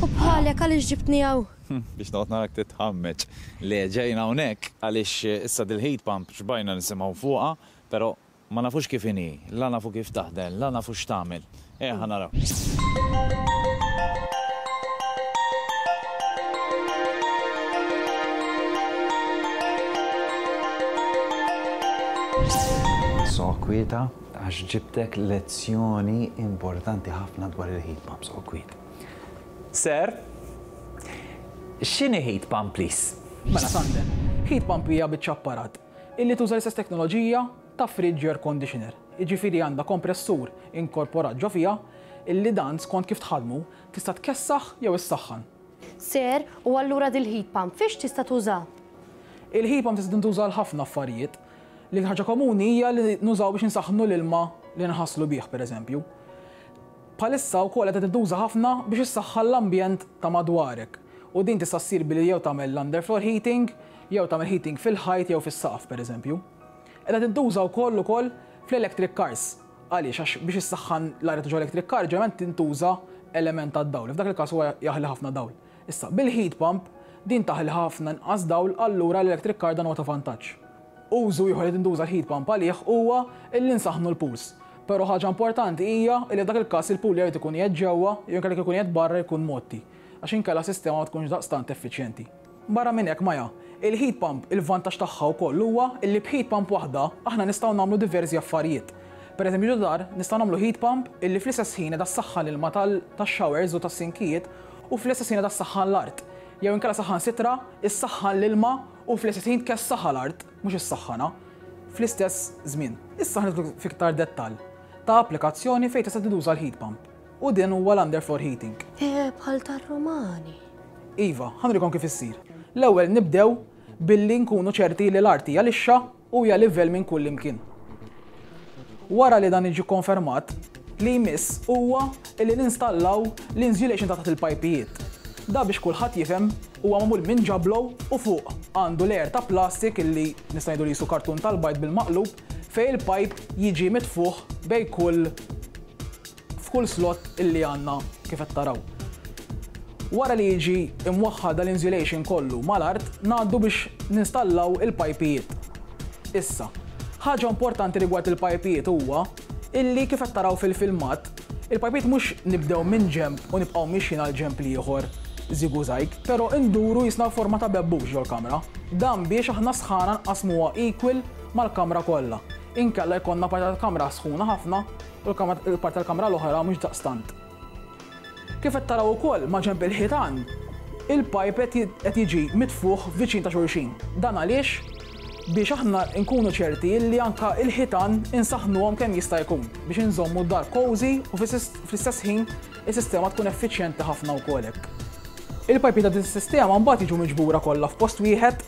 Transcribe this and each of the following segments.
U bħalek għaliex ġibtni hawn? Biex noqgħod narak titħammeġ. Le, ġejna hawnhekk għaliex issa dil-heat pump xbajna nisimgħu fuqha, però ma nafux kif inhi, la nafu kif taħdem, la nafu x'tagħmel. Ejja ħa naraw. Soqgħod kwieta għax ġibtek lezzjoni importanti ħafna dwar il-heat pump, soqgħod kwieta. Sir, x'inhi heat pump please? Mela Sander, heat pump hija biċċa apparat illi tuża l-istess teknoloġija ta' fridge air conditioner. Jiġifieri għandha kompressur inkorporat ġo fiha illi dan skont kif tħaddmu tista' tkessaħ jew issaħħan. Sir, u allura dil-heat pump fiex tista' tuża? Il-heat pump tista' tintuża għal ħafna affarijiet. L-iktar ħaġa komuni hija li nużaw biex insaħħnu l-ilma li nħasslu bih pereżempju. Bħalissa wkoll qed tintuża ħafna biex issaħħan l-ambjent ta' madwarek u din tista' ssir billi jew tagħmel l-underfloor heating jew tagħmel heating fil-ħajt jew fis-saqaf pereżempju. Qiegħda tintuża wkoll ukoll fl-electric cars. Għaliex? Għax biex issaħħan l-arja ta' ġo electric car ġeneralment tintuża element tad-dawl. F'dak il-każ huwa jaħli ħafna dawl. Issa, bil-heat pump, din taħli ħafna inqas dawl allura l-electric car dan huwa ta' vantaġġ. Użu ieħor li tintuża l-heat pump għalih huwa illi nsaħħnu l-pools. Però ħaġa importanti hija illi f'dak il-każ il-pool jew irid ikun qiegħed ġewwa jew inkella jekk ikun qiegħed barra jkun mgħotti għax inkella s-sistema ma tkunx daqstant effiċjenti. Barra minn hekk, Maja, il-heat pump il-vantaġġ tagħha wkoll huwa illi b'heat pump waħda aħna nistgħu nagħmlu diversi affarijiet. Per eżempju ġo dar nistgħu nagħmlu heat pump illi fl-istess ħin qiegħda ssaħħan l-ilma tax-showers u tas-sinkijiet u fl-istess ħin qiegħda ssaħħan l-art. Jew inkella saħansitra ssaħħan l-ilma u fl-istess ħin tkessaħha l-art, mhux issaħħanha, fl-istess żmien. Issa ħa nidħlu f'iktar dettall ta' applikazzjoni fejn tista' tintuża l-heat pump u din huwa l-underfloor heating. Eh, bħal tar-Rumani. Iva, ħa nurikom kif issir. L-ewwel nibdew billi nkunu ċerti li l-art hija lixxa u hija livell minn kull imkien. Wara li dan jiġi kkonfermat, li jmiss huwa li ninstallaw l-insulation ta' taħt il-pajpijiet. Da biex kulħadd jifhem huwa magħmul minn ġablo u fuq għandu layer ta' plastik illi nista' ngħidu li qisu kartun tal-bajd bil-maqlub fejn il-pajp jiġi mitfugħ bejn kull f'kull slot illi għandna kif qed taraw. Wara li jiġi imwaħħal dal-insulation kollu mal-art, ngħaddu biex ninstallaw il-pajpijiet. Issa, ħaġa importanti rigward il-pajpijiet huwa illi kif qed taraw fil-filmat, il-pajpijiet mhux nibdew minn ġenb u nibqgħu mixjin għal ġenb l-ieħor żigużajg, però nduru jisna forma ta' bebbux ġol-kamra. Dan biex aħna s-sħana nqassmuha equal mal-kamra kollha. Inkella jkollna parti tal-kamra sħuna ħafna u l-parti tal-kamra l-oħra mhux daqstant. Kif qed taraw ukoll maġenb il-ħitan, il-pajp qed jiġi mitfugħ viċin ta' xulxin. Dan għaliex biex aħna nkunu ċerti li anke l-ħitan insaħħnuhom kemm jista' jkun biex inżommu d-dar cozy u fl-istess ħin is-sistema tkun effiċjenti ħafna wkoll hekk. Il-pajpijiet ta' din is-sistema mbagħad jiġu miġbura kollha f'post wieħed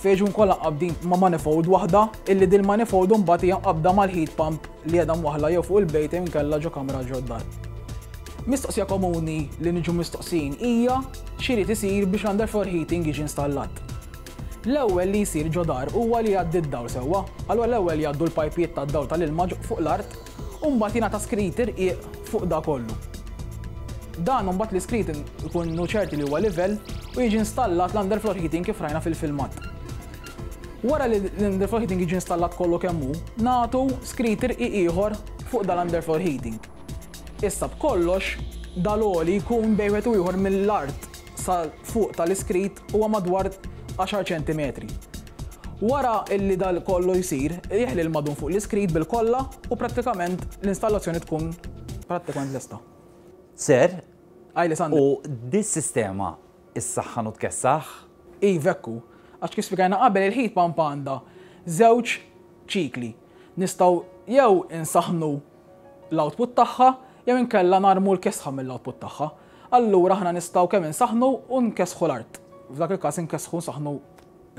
fejn jiġu kollha mqabbdin ma' manifold waħda illi din manifold imbagħad hija mqabbda mal-heat pump li qiegħda mwaħħla jew fuq il-bejt jew inkella ġo kamra ġo d-dar. Mistoqsija komuni li niġu mistoqsijin hija x'irid isir biex l-underfloor heating jiġi installat. L-ewwel li jsir ġo dar huwa li jgħaddi d-dawl sewwa. Allura l-ewwel jgħaddu l-pajpijiet tad-dawl tal-ilma fuq l-art u mbagħad jingħata skrit irqiq fuq da kollu. Dan imbagħad l-iskrit ikunu ċerti li huwa livell u jiġi installat l-underfloor heating kif rajna fil-filmat. Wara li l-underfloor heating jiġi installat kollu kemm hu, nagħtu skrit irqiq ieħor fuq dal-underfloor heating. Issa b'kollox dal-għoli jkun bejn wieħed u ieħor mill-art sa fuq tal-iskrit huwa madwar 10 ċentimetri. Wara illi dal kollu jsir, jeħli l-madum fuq l-iskrit bil-kolla u prattikament l-installazzjoni tkun prattikament lesta. Sir, Għajli Sander. U dis-sistema issaħħan u tkessaħ? Iva hekk hu. Għax kif spjegajna qabel il-heat pump għandha żewġ ċikli. Nistgħu jew insaħħnu l-output tagħha jew inkella narmu l-kesħa mill-output tagħha. Allura aħna nistgħu kemm insaħħnu u nkessħu l-art. F'dak il-każ inkessħu nsaħħnu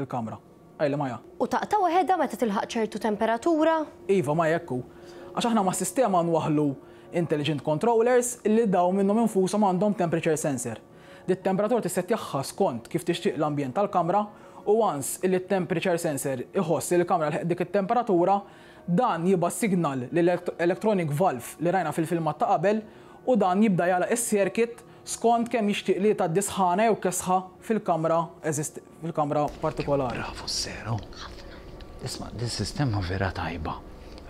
l-kamra. Għajli Maja. U taqta' waħedha meta tilħaq ċertu temperatura? Iva Maja hekk hu. Għax aħna mas-sistema nwaħħlu intelligent controllers li dawn minnhom infushom għandhom temperature sensor. Dit-temperatura tissettjagħha skont kif tixtieq l-ambjent tal-kamra u once illi t-temperature sensor iħoss li l-kamra lħeqt dik it-temperatura, dan jibgħat signal lill-electronic valve li rajna fil-filmat ta' qabel u dan jibda jagħlaq is-circuit. skont kemm jixtieq li tgħaddi sħana jew kesħa fil-kamra fil-kamra partikolari. Bravu s-sero. Isma' din sistema vera tajba.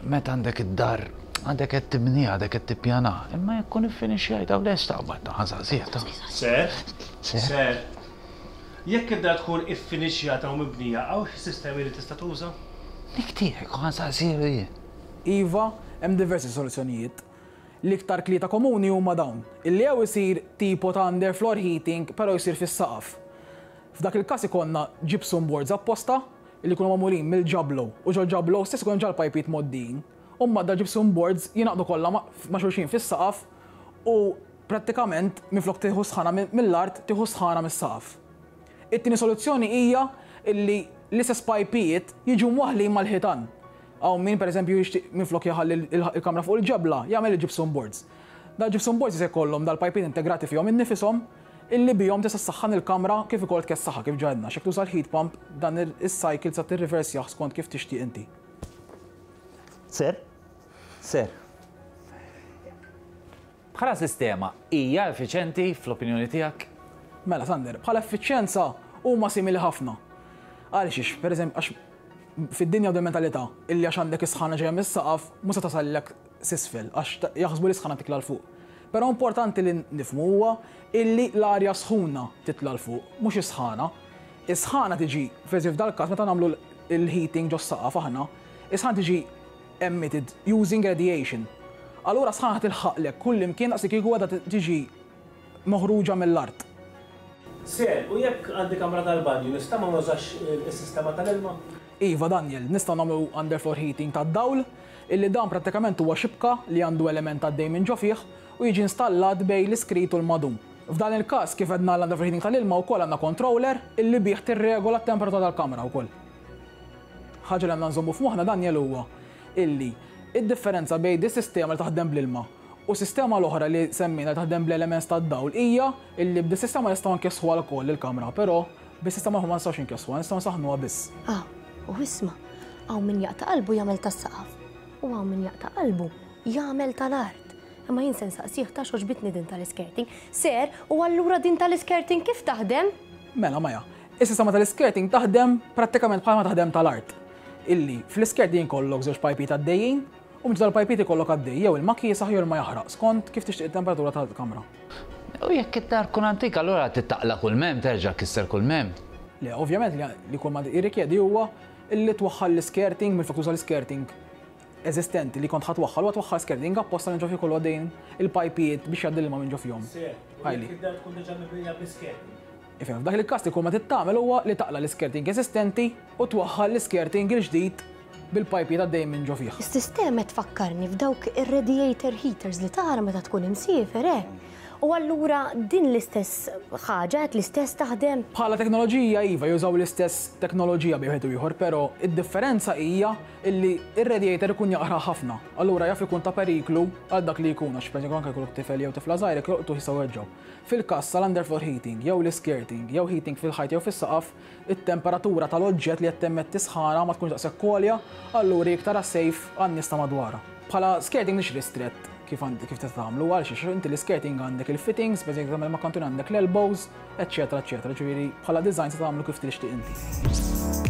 Meta għandek id-dar għadek qed tibniha, għadek qed tippjanaha, imma jekk tkun iffinixxjajtha u lesta qabad ta' ħażażiha ta'. Sir? Sir? Sir, jekk id-dar tkun iffinixxjata u mibnija hawn xi sistemi li tista' tuża? Dik tiegħek u ħa nsaqsilu jien. Iva, hemm diversi soluzzjonijiet. L-iktar tlieta komuni huma dawn, illi jew isir tipo ta' underfloor heating però jsir fis-saqaf. F'dak il-każ ikollna gypsum boards apposta illi jkunu magħmulin mill-ġablo u ġol-ġablo stess ikun hemm ġa l-pajpijiet mgħoddijin. U mbagħad dal-gypsum boards jingħaqdu kollha ma' xulxin fis-saqaf u prattikament minflok tieħu s-sħana mill-art tieħu s-sħana mis-saqaf. It-tieni soluzzjoni hija illi l-istess pajpijiet jiġu mwaħħlin mal-ħitan. Hawn min pereżempju jixtieq minflok jħalli l-kamra fuq il-ġebla, jagħmel il-gypsum boards. Dal-gypsum boards jista' jkollhom dal-pajpijiet integrati fihom innifishom illi bihom tista' ssaħħan il-kamra kif ukoll tkessaħha kif ġa għedna għax jekk tuża l-heat pump dan is-cycle tista' tirriversjah skont kif tixtieq inti. Sir? Sir. Bħala sistema, hija effiċenti fl-opinjoni tiegħek? Mela, Sander, bħala effiċjenza huma simili ħafna. Għalxiex, pereżempju, għax fid-dinja hawn mentalità illi għax għandek is-sħana ġejja mis-saqaf mhux se tasallek s'isfel għax jaħsbu li s-sħana titla' 'l fuq. Però importanti li nifhmu huwa illi l-arja sħuna titla' 'l fuq, mhux is-sħana. Is-sħana tiġi, pereżempju f'dal-każ meta nagħmlu l-heating ġos-saqaf aħna, is-sħana tiġi emitted using radiation. Allura s-sħana tilħaqlek kullimkien daqslikieku qiegħda tiġi moħruġa mill-art. Sir, u jekk għandi kamra tal-banju nista' ma nużax is-sistema tal-ilma? Iva Daniel, nistgħu nagħmlu underfloor heating tad-dawl, illi dan prattikament huwa xibka li għandu element għaddej minn ġo fih u jiġi installat bejn l-iskrit u l-madum. F'dan il-każ, kif għedna għall-underfloor heating tal-ilma wkoll għandna controller illi bih tirregola t-temperatura tal-kamra wkoll. Ħaġa li għandna nżommu f'moħħna Daniel huwa illi id-differenza bejn dis-sistema li taħdem bl-ilma u sistema l-oħra li semmejna li taħdem bl-elements tad-dawl hija illi b'dis-sistema nistgħu nkessħuha lkoll il-kamra, però bis-sistema l-oħra ma nistgħux inkessħuha, nistgħu nsaħħnuha biss. Ah, u isma', hawn min jaqta' qalbu jagħmel tas-saqaf u hawn min jaqta' qalbu jagħmel tal-art. Imma jien se nsaqsih ta' x'għoġbitni din tal-iskirting. Sir, u allura din tal-iskirting kif taħdem? Mela, Maja, is-sistema tal-iskirting taħdem prattikament bħalma taħdem tal-art. Illi fl-iskirting ikollok żewġ pajpijiet għaddejjin u minn dal-pajpijiet ikollok għaddej jew ilma kiesaħ jew ilma jaħraq skont kif tixtieq it-temperatura tal-kamra. U jekk id-dar tkun antika allura trid taqla' kull m'hemm, terġa' tkisser kull m'hemm. Le, ovvjament li kull ma jirrikjedi huwa illi twaħħal l-iskirting minflok tuża l-iskirting eżistenti li kont ħa twaħħal huwa twaħħal skirting apposta minn ġo fih kollu għaddejjin il-pajpijiet biex jgħaddi l-ilma minn ġo fihom. Sir, u jekk id-dar tkun diġà mibnija bl-iskirting? Ifhem, f'dak il-każ li kull ma trid tagħmel huwa li taqla' l-iskirting eżistenti u twaħħal l-iskirting il-ġdid bil-pajpijiet għaddejjin minn ġo fih. Is-sistema tfakkarni f'dawk ir-radiator heaters li tara meta tkun imsiefer, eh? U allura din l-istess ħaġa qed l-istess taħdem? Bħala teknoloġija iva, jużaw l-istess teknoloġija bejn wieħed u ieħor, però id-differenza hija illi r-radiator ikun jaqra ħafna. Allura jaf ikun ta' periklu għal dak li jkun, għax pereżempju anke jkollok tifel jew tifla żgħira jekk jolqtuh jistgħu jweġġgħu. Fil-każ tal-underfloor heating jew l-iskirting jew heating fil-ħajt jew fis-saqaf, it-temperatura tal-oġġett li qed temmetti sħana ma tkunx daqshekk għolja, allura hi iktar safe għan-nies ta' madwarha. Bħala skirting mhix ristrett kif għand kif tista' tagħmlu għalxiex inti l-iskirting għandek il-fittings, pereżempju tagħmel ma' kantun għandek l-elbows, eċċetera eċċetera, ġifieri bħala design se tagħmlu kif tixtieq inti.